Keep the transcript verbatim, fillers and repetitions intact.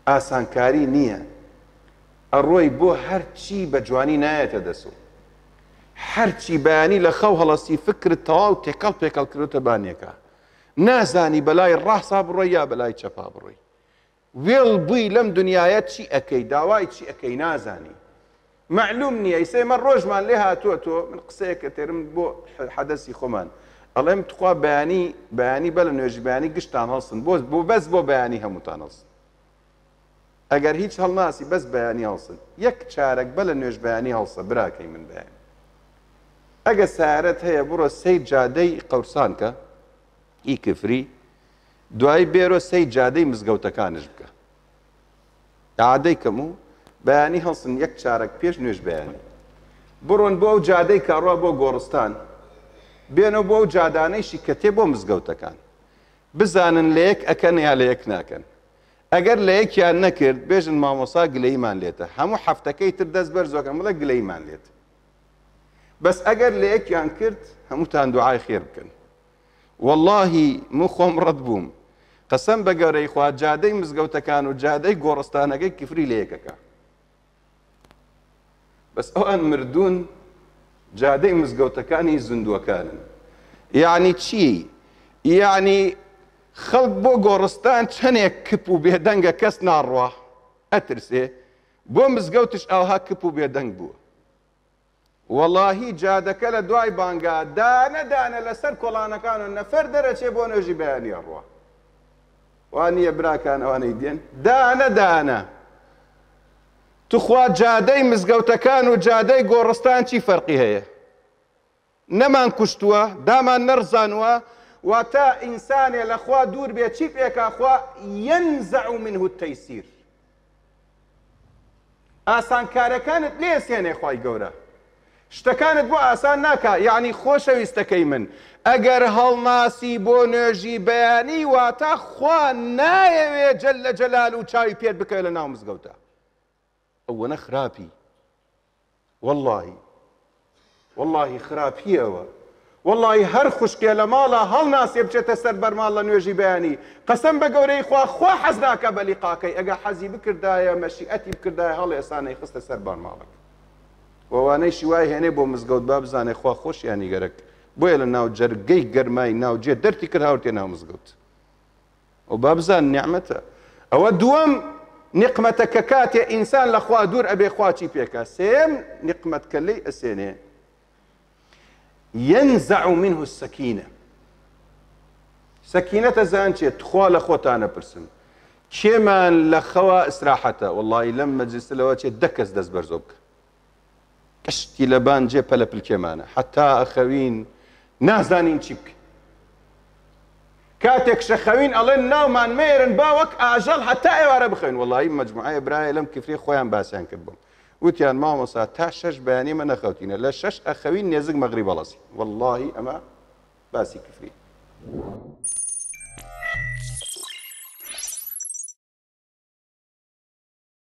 ئاسانکاری نییە. ئەڕۆی بۆ هەرچی بە جوانی نایەتە دەسو. هەرچی بەیانی لە خەو هەڵەسی فکرت تەواو تێکەڵ پێکەڵ کردوتە بانیەکە. نازانی بەلای ڕاسا بڕۆی یا بەلای چەپا بڕۆی. وێڵ بووی لەم دنیاە چی ئەکەی، داوای چی ئەکەی نازانی. معلوم نییە. ئیسا ئێمە ڕۆژمان لێ هاتووە تۆ من قسەیەکە تێرم بۆ حەدەسی خۆمان. ئەڵێم تخوا بەیانی بەیانی بە لە نوێژی بەیانی گشتان هەڵسن، بۆ بۆ بەس بۆ بەیانی هەمووتان هەڵسن. ئەگەر هیچ هەڵناسی بەس بەیانی هەڵسن. یەک چارەک بە لە نوێژ بەیانی هەڵسە براکەی من بەیانی. ئەگە سارەت هەیە بڕۆ سەی جادەی قەورسانکە ئی کفری، دوایی بێرۆ سەی جادەی مزگەوتەکانش بکە. عادەی کەم و بەیانی هەڵسن یەک چارەک پێش نوێژ بەیانی. بڕۆن بۆ ئەو جادەی کاڕوا بۆ گۆڕستان، بێنەوە بۆ ئەو جادانەیشی کە تێ بۆ مزگەوتەکان. بزانن لە یەک ئەکەن یا لە یەک ناکەن. ئەگەر لە یەکیان نەکرد بێژن مامۆسا گلەیمان لێتە. هەموو هەفتەکەی تر دەست بەرزۆکەن بڵێ گلەیمان لێت. بەس ئەگەر لە یەکیان کرد هەمووتان دوعای خێر بکەن. واللهی من خۆم ڕەت بووم. قەسەم بە گەورەی خوا جادەی مزگەوتەکان و جادەی گۆڕستانەکەی کفری لە یەکەکە. بەس ئەوان مردوون جادەی مزگەوتەکانی زیندووەکانن. یعنی چی؟ یعنی خەڵک بۆ گۆڕستان چەندێک کپ و بێدەنگە کەس ناڕوا ئەترسێ، بۆ مزگەوتش ئاوها کپ و بێدەنگ بووە. وەڵاهی جادەکە لە دوای بانگا دانە دانە لەسەر کۆڵانەکان و نەفەر دەرەچێ بۆ نوێژی بەیانی ئەڕوا. وا نییە براکان ئەوانەی دێن دانە دانە. تخوا جادەی مزگەوتەکان و جادەی گۆڕستان چی فەرقی هەیە؟ نەمان کوشتووە، دامان نەڕزانووە، واتە ئینسانێ لە خوا دوور بێ چی پێکا خوا ينزع منه التيسير. ئاسانکارەکانت لێ سێنێ خوای گەورە. شتەکانت بۆ ئاسان ناکا. یعنی خۆشەویستەکەی من ئەگەر هەڵناسی بۆ نوێژی بەیانی واتە خوا نایەوێ جەلە جەلال و چاوی پێت بکەوێ لە ناو مزگەوتە. ئەوەنە خراپی، واللهی واللهی خراپیەوە. واللهی هەر خوشکێ لە ماڵە هەڵناسێ بچێتە سەر بەرماڵ لە نوێژی بەیانی. قەسەم بە گەورەی خوا خوا حەز ناکا بە لیقاکەی. ئەگەر حەزی بکردایە مەشیئەتی بکردایە هەڵێسانەی خستە سەر بەرماڵەکە. وەوانەیشی وای هێنێ بۆ مزگەوت با بزانێ خوا خۆشیانی گەرەک. بۆیە لە ناو جەرگەی گەرمای ناوجێ دەرتی کرد هاورتێ ناو مزگەوت. ئەو با بزان نیعمەتە. ئەوە دووەم نقمەتە کە کاتێ ئینسان لە خوا دوور ئەبێ خوا چی پێکا. سێم نقمەت کە لێی ئەسێنێ ينزع منه السكينة. سكينة زان چیە؟ تخوا لە خۆتانە پرسن کێمان لە خەوا ئیسراحەتە؟ وەڵڵاهی لەم مەجلیسە لەوە چێ دە کەس دەست بەرزۆ بکە. کەشتی لەبان جێ پەلەپلکێمانە حتا ئەخەوین نازانین چی بکەین. کاتێک شەخەوین ئەڵێن ناومان مێرن با وەک ئاژەڵ هەتا ئێوارە بخەوین. وەڵڵاهی مەجموعەیە برایە لەم کفری خۆیان باسیان کرد بووم. وتیان مامۆستا تا شەش بەیانی مە نەخەوتینە، لە شەش ئەخەوین نێزک مەغریب هەڵەسین. وەڵڵاهی ئەمە باسی کفری.